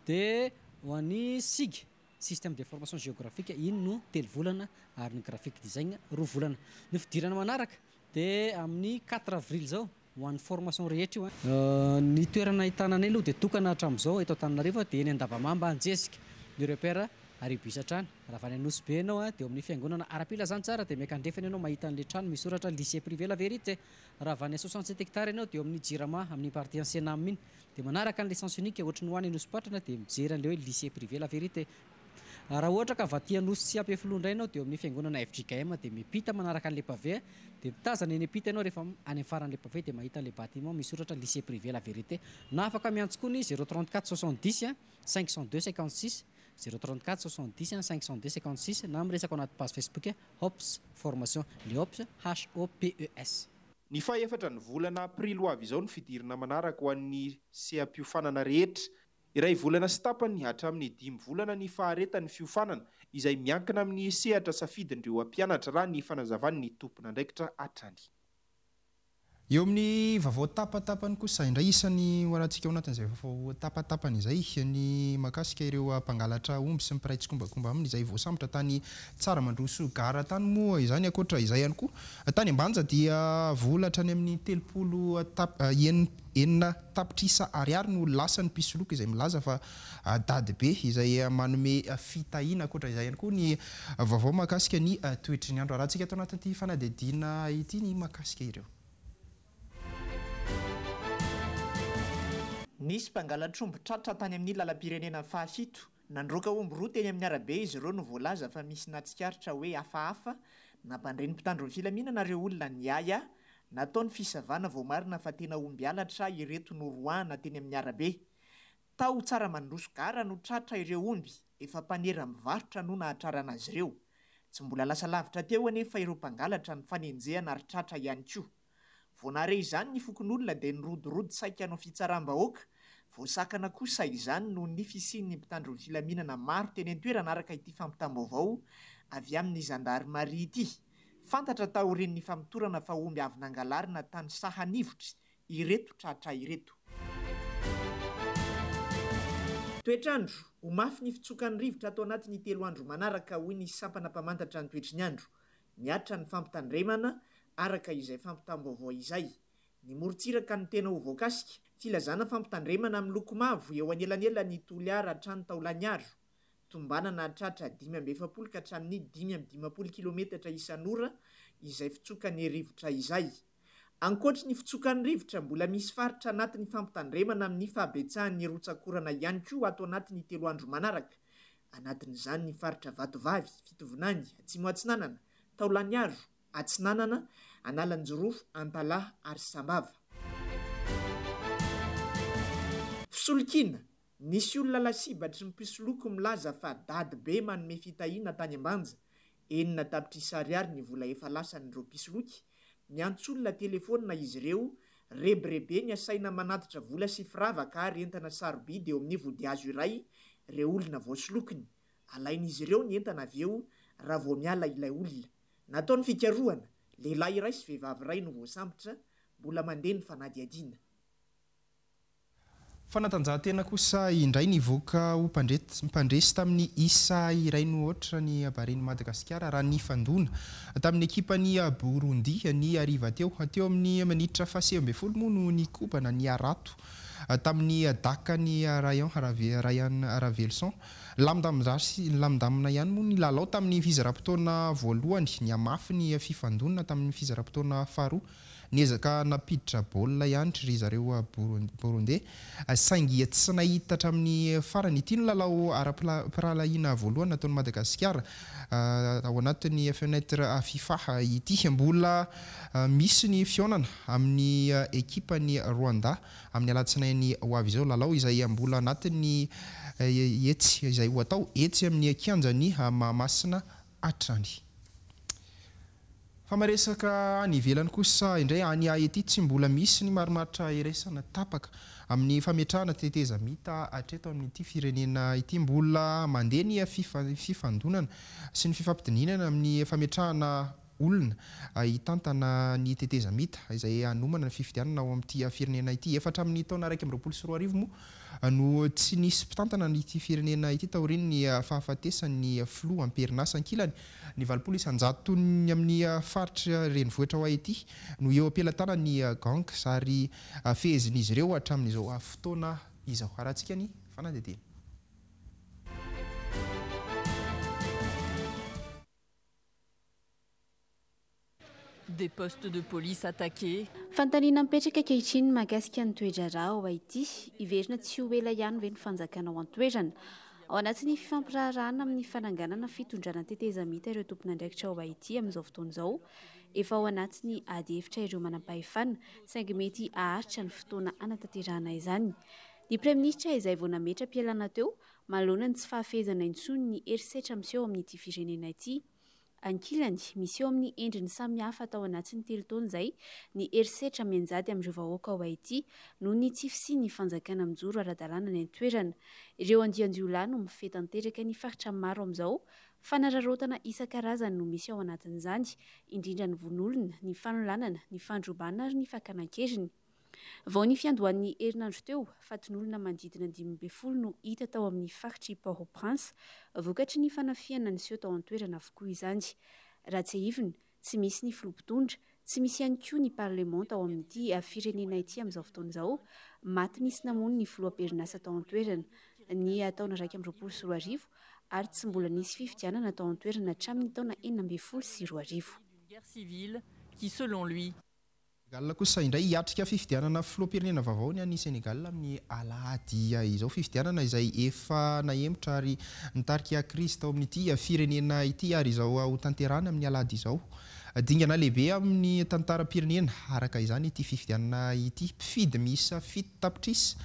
De ho an'ny sig, système d'information géographique, iny no telo volana ary ny graphic design roa volana. Ny fidirana manaraka de amin'ny quatre avril zao ho an'ny formation rehetra io an. Ny toerana ahitana anay aloha dia tokana hatramin'izao eto Antananarivo dia eny Andavamamba Anjezika, ny repère Aribus hatrany. Raha avy any Anosibe ianao dia eo amin'ny fiangonana ara-pilazantsara dia miankandrefana ianao mahita an'ilay trano misy soratra Lycée privé La Vérité. Raha avy any 67 hectares ianao dia eo amin'ny Jirama amin'ny partie Ansenam iny dia manaraka an'ilay sens unique ohatry ny ho any Anosipatrana dia mijery an'ilay hoe Lycée privé La Vérité. Raha ohatra ka avy aty Anosy sy Ampefiloha indray ianao dia eo amin'ny fiangonana fjkm dia miampita manaraka an'ilay pavé dia mitazana eny ampita ianao rehefa any amin'ny faran'ilay pavé dia mahita an'ilay bâtiment misy soratra Lycée privé La Vérité. Na afaka miantso koa ny 034 70 502 56, 034 70 502 56 na miresaka ao anaty page Facebook Hops Formation, le Hops HOPES. Ny faha-efatra ny volana aprily ho avy izao ny fidirana manaraka ho an'ny seha-piofanana rehetra. Iray volana sy tapany hatramin'ny dimy volana ny faharetan'ny fiofanana, izay miankina amin'ny sehatra safidin'ireo mpianatra, raha ny fanazavan'ny tompon'andraikitra hatrany. Eo amin'ny vaovao tapatapany kosa indray, isan'ny ho arahantsika ao anatin'izay vaovao tapatapany izay ny mahakasika ireo mpangalatra omby sy ny mpiray tsikombakomba aminy izay voasambotra tany Tsaramandroso gara tany moa izany. Ankoatra izay ihany koa, tany Ambanja dia vola hatrany amin'ny 30 tap, enina tapitrisa ariary no lasan'ny mpisoloky izay milaza fa dadibe izay manome fitahiana. Ankoatra izay ihany koa ny vaovao mahakasika ny toetry ny andro. Arahantsika ato anatin'ity fanadihadiana ity ny mahakasika ireo. Nisy mpangalatr'omby tratra tany amin'ny lalam-pirenena fahafito. Nandroaka omby roa teny amin'ny arabe izy ireo no voalaza fa misy nahatsikaritra hoe hafahafa. Nampandre ny mpitandro ny filaminana ireo olona niahiahy. Natao ny fisavana voamarina fa tena omby halatra ireto noroahana teny amin'ny arabe. Tao Tsaramandroso gara no tratra ireo omby, efa mpanera mivarotra no nahatrarana azy ireo. Tsy mbola lasa lavitra teo anefa ireo mpangalatra nifanenjehana ary tratra ihany koa. Vao nahare izany ny fokonolona dia nirodorodo saika hanao fitsaram-bahoaka. Voasakana kosa izany noho ny fisian'ny mpitandro ny filaminana maro teny an-toerana araka ity fampitam-baovao avy amin'ny zandarimaria ity. Fantatra taorian'ny famotorana fa omby avy nangalarina tany Sahanivotry ireto tratra ireto. Toetr'andro, Ho mafy ny fitsokan'ny rivotra ato anatin'ny telo andro manaraka, hoy ny sampana mpamantatra ny toetry ny andro. Mihatra ny fampitandremana, araka izay fampitam-baovao izay. Ny morontsiraka no tena ho voakasika. Filazana fampitandremana miloko mavo eo anelanelan'i Toliara hatrany Taolagnaro. Tombanana hahatratra 45 ka hatramin'ny 55 kilometatra isan'ora izay fitsokan'ny rivotra izay. Ankoatry ny fitsokan'ny rivotra, mbola misy faritra anatin'ny fampitandremana amin'ny fahabetsahan'ny rotsak'orana ihany koa ato anatin'ny telo andro manaraka. Anatin'izany ny faritra Vatovavy, Fitovinany, Atsimo Atsinanana, Taolagnaro, Atsinanana, Analanjirofo, Antalaha ary Sambava. Fisolokiana, Nisy olona lasibatry ny mpisoloky milaza fa dadibe manome fitahiana tany Ambanja. 6 tapitrisa ariary ny vola efa lasan'ireo mpisoloky. Miantso olona telefaonina izy ireo, rebirebeny asaina manatitra vola sy firavaka ary entana sarobidy eo amin'ny vodihazo iray ireo olona voasolokiny. Alain'izy ireo ny entana avy eo raha vao miala ilay olona. Natao ny fikarohana, lehilahy iray sy vehivavy iray no voasambotra, mbola mandeha ny fanadihadiana. Fanatanjahantena kosa indray nivoaka ho mpandresy tamin'ny isa iray no aotra ny Barean'i Madagasikara raha nifandona tamin'ny ekipan'i Burundi ny hariva teo. Teo amin'ny minitra faha-19 moa no nikobana ny harato tamin'ny dakan'i Rayan Rayan Raveloson. Nilamindamina ihany moa ny lalao tamin'ny fizaram-potoana voalohany. Nihamafy ny fifandonana tamin'ny fizaram-potoana faharoa. Niezaka nampiditra baolina ihany ry zareo Burundais saingy tsy nahita hatramin'ny farany. Ity no lalao ara-pirahalahiana voalohany nataon'i Madagasikara ao anatin'ny fenêtre Fifa ity. Mbola misy ny fihaonana amin'ny ekipan'i Rwanda amin'ny alatsinainy ho avy izao. Lalao izay mbola anatin'ny etsy izay ho atao etsy amin'ny kianjan'i Mahamasina hatrany. Fa miresaka any ivelany kosa indray, any Haiti tsy mbola misy ny marimaritra iraisana tapaka amin'ny fametrahana tetezamita hatreto amin'ity firenena ity. Mbola mandeha ny fifandonana sy ny fifampidinihana amin'ny fametrahana olona hitantana ny tetezamita izay hanomana ny fifidianana ao amin'ity firenena ity. Efa hatramin'ny taona 2021 moa no tsy nisy mpitantana ity firenena ity taorian'ny fahafatesan'ny filoha am-perinasa. Ankilany, ny 80 isan-jaton'ny amin'ny faritra renivohitra ao Haiti no eo am-pelatanan'ny gangs ary fehezin'izy ireo hatramin'izao fotoana izao. Arahantsika ny fanadihadiana. Des postes de police attaqués. Fanontaniana mipetraka ankehitriny mahakasika ny toe-draharaha ao Haiti, hiverina tsy ho ela ihany ve ny fanjakana ao an-toerana? Ao anatin'ny fifampiraharahana amin'ny fananganana fitondrana tetezamita ireo tompon'andraikitra ao Haiti amin'izao fotoana izao. Efa ao anatin'ny ady hevitra ireo manampahefana, saingy mety haharitra ny fotoana hanatanterahana izany. Ny praiminisitra izay vao nametra-pialana teo, manoloana ny tsy fahafehezana intsony ny herisetra miseho amin'ity firenena ity. Ankilany, miseho amin'ny endriny samihafa tao anatin'ny telo taona izay ny herisetra mianjady amin'ireo vahoaka ao Haiti noho ny tsy fisian'ny fanjakana mijoro ara-dalàna any an-toerana. Ireo andian-jiolahy no mifehy tanteraka ny faritra maro amin'izao. Fanararaotana isan-karazany no misy ao anatin'izany, indrindra ny vono olona, ny fanolanana, ny fandrobana ary ny fakana an-keriny. Vao ny fiandohan'ny herinandro teo, fatin'olona manodidina 15 no hita tao amin'ny faritr'i Port-au-Prince, vokatry ny fanafihana niseho tao an-toerana avokoa izany. Raha tsiahivina, tsy misy ny filoha mpitondra, tsy misy ihany koa ny parlemanta ao amin'ity firenena ity amin'izao fotoana izao. Maty nisy namono ny filoha am-perinasa tao an-toerana ny taona 2021 ary tsy mbola nisy fifidianana tao an-toerana hatramin'ny taona 2016. Guerre civile qui, selon lui. Sénégal kosa indray hiatrika fifidianana filoham-pirenena vaovao ny any Sénégal amin'ny alahady izao. Fifidianana izay efa nahemotra ary nitarika krizy tao amin'ity firenena ity ary izao hotanterahina amin'ny alahady izao. Dingana lehibe amin'ny tantaram-pirenena araka izany ity fifidianana ity. Mpifidy miisa 7 tapitrisa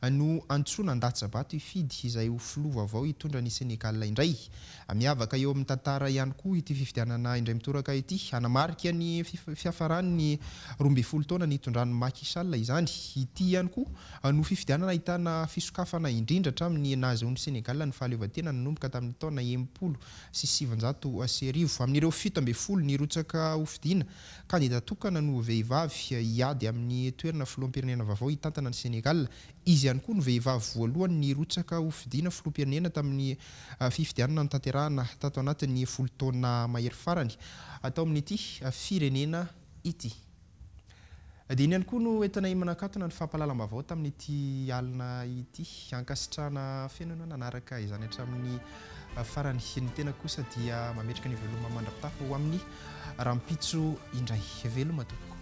no antsoina handatsa-bato hifidy izay ho filoha vaovao hitondra an'i Sénégal indray. Miavaka eo amin'ny tantara ihany koa ity fifidianana indray mitoraka ity. Hanamarika ny fiafaran'ny 12 taona nitondran'i Macky Sall izany. Ity ihany koa no fifidianana ahitana fisokafana indrindra hatramin'ny nahazoan'i Sénégal ny fahaleovantena nanomboka tamin'ny taona 1960. Amin'ireo 17 nirotsaka hofidiana, kandida tokana no vehivavy hiady amin'ny toerana filoham-pirenena vaovao hitantana an'i Sénégal. Izy ihany koa no vehivavy voalohany nirotsaka hofidiana filoham-pirenena tamin'ny fifidianana notanterahana tato anatin'ny folo taona mahery farany tao amin'ity firenena ity. Dia iny ihany koa no entinay manakatona ny fampahalalam-baovao tamin'ity alina ity. Ankasitrahana feno ianao nanaraka izany hatramin'ny farany. Ny tena kosa dia mametraka ny veloma mandra-pitafa ho amin'ny rahampitso indray. Veloma tompoko.